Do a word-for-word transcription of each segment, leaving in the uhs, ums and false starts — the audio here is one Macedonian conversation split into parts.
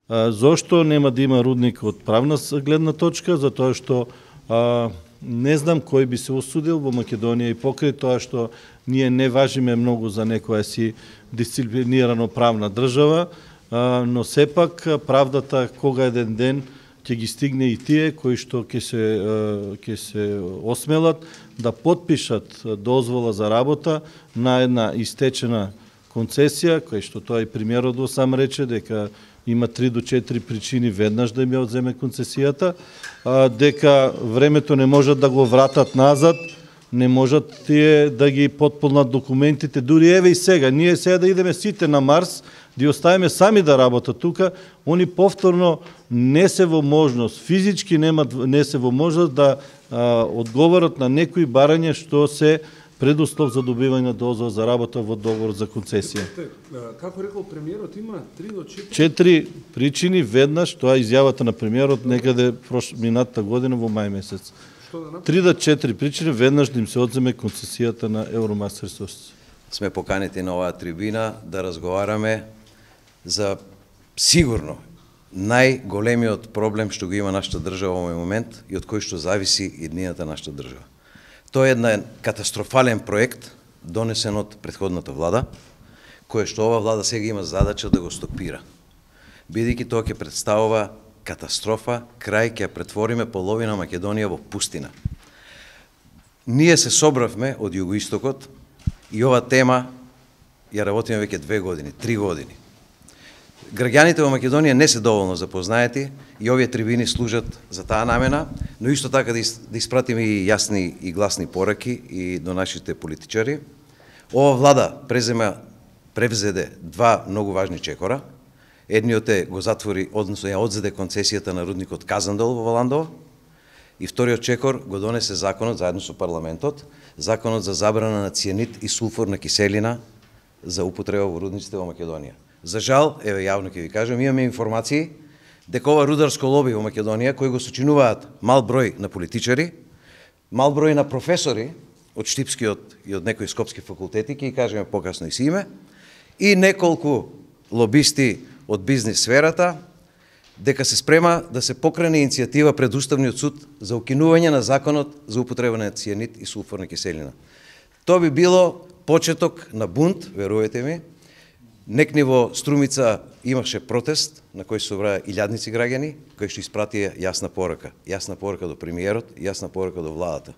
Зошто нема да има рудник од правна гледна точка? Затоа што а, не знам кој би се осудил во Македонија и покрај тоа што ние не важиме многу за некоја си дисциплинирано правна држава, а, но сепак правдата кога еден ден ќе ги стигне и тие кои што ќе се ќе се осмелат да потпишат дозвола за работа на една истечена концесија, кој што тоа и премиерот го сам рече дека има три до четири причини веднаш да им ја одземе концесијата, а, дека времето не можат да го вратат назад, не можат тие да ги потполнат документите, дури еве и сега, ние сега да идеме сите на Марс, да ги оставиме сами да работат тука, они повторно не се во можност, физички немат, не се во можност да а, одговорат на некои барања што се предуслов за добивање дозвола за работа во договор за концесија. Како рекол премиерот, има три до четири четири причини веднаш, тоа е изјавата на премиерот некаде прош минатата година во мај месец. три до четири причини веднаш да им се одземе концесијата на Евромас Ресурси. Сме поканети на оваа трибина да разговараме за сигурно најголемиот проблем што го има нашата држава во овој момент и од кој што зависи иднината нашата држава. Тоа е еден катастрофален проект, донесен од претходната влада, кој што ова влада сега има задача да го стопира. Бидејќи тоа ќе представува катастрофа, крај ќе претвориме половина Македонија во пустина. Ние се собравме од југоистокот и ова тема ја работиме веќе две години, три години. Граѓаните во Македонија не се доволно запознаети и овие трибини служат за таа намена, но исто така да испратиме и јасни и гласни пораки и до нашите политичари. Ова влада презема, превзеде два многу важни чекора. Едниот е го затвори, односно ја одзеде концесијата на рудникот Казандол во Валандово, и вториот чекор го донесе законот заедно со парламентот, законот за забрана на цијанид и сулфурна киселина за употреба во рудниците во Македонија. За жал, еве јавно ќе ви кажам, имаме информации дека ова рударско лоби во Македонија, кои го сочинуваат мал број на политичари, мал број на професори од Штипскиот и од некои скопски факултети, ќе кажеме покасно и си име, и неколку лобисти од бизнис сферата, дека се спрема да се покрене иницијатива пред Уставниот суд за укинување на законот за употреба на цијанид и сулфурна киселина. Тоа би било почеток на бунт, верувате ми. Некни во Струмица имаше протест на кој се собраа илјадници граѓани, кои што испратија јасна порака, јасна порака до премиерот, јасна порака до владата.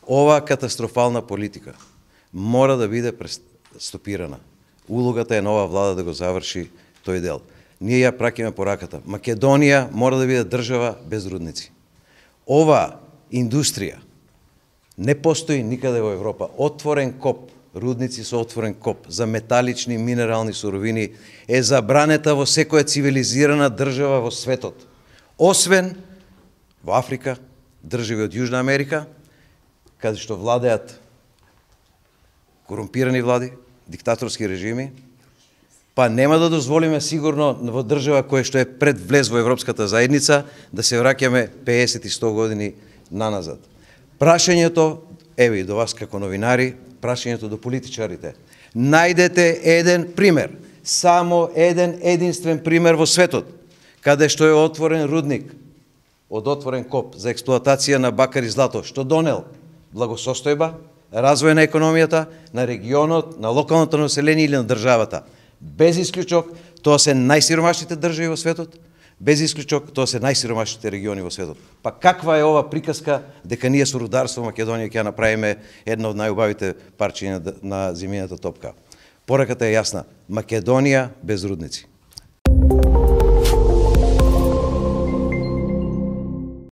Ова катастрофална политика мора да биде стопирана. Улогата е нова влада да го заврши тој дел. Ние ја праќаме пораката. Македонија мора да биде држава без рудници. Ова индустрија не постои никаде во Европа. Отворен коп, рудници со отворен коп за металични минерални суровини е забранета во секоја цивилизирана држава во светот. Освен во Африка, држави од Јужна Америка, каде што владеат корумпирани влади, диктаторски режими, па нема да дозволиме сигурно во држава која што е пред влез во Европската заедница да се враќаме пеесет и сто години наназад. Прашањето, еве и до вас како новинари, прашањето до политичарите. Најдете еден пример, само еден единствен пример во светот, каде што е отворен рудник од отворен коп за експлоатација на бакар и злато, што донел благосостојба, развој на економијата, на регионот, на локалното население или на државата. Без исклучок, тоа се најсиромашните држави во светот, без исклучок, тоа се најсиромашните региони во светот. Па каква е ова приказка дека ние со рударство во Македонија ќе направиме една од најубавите парчиња на земјината топка? Пораката е јасна. Македонија без рудници.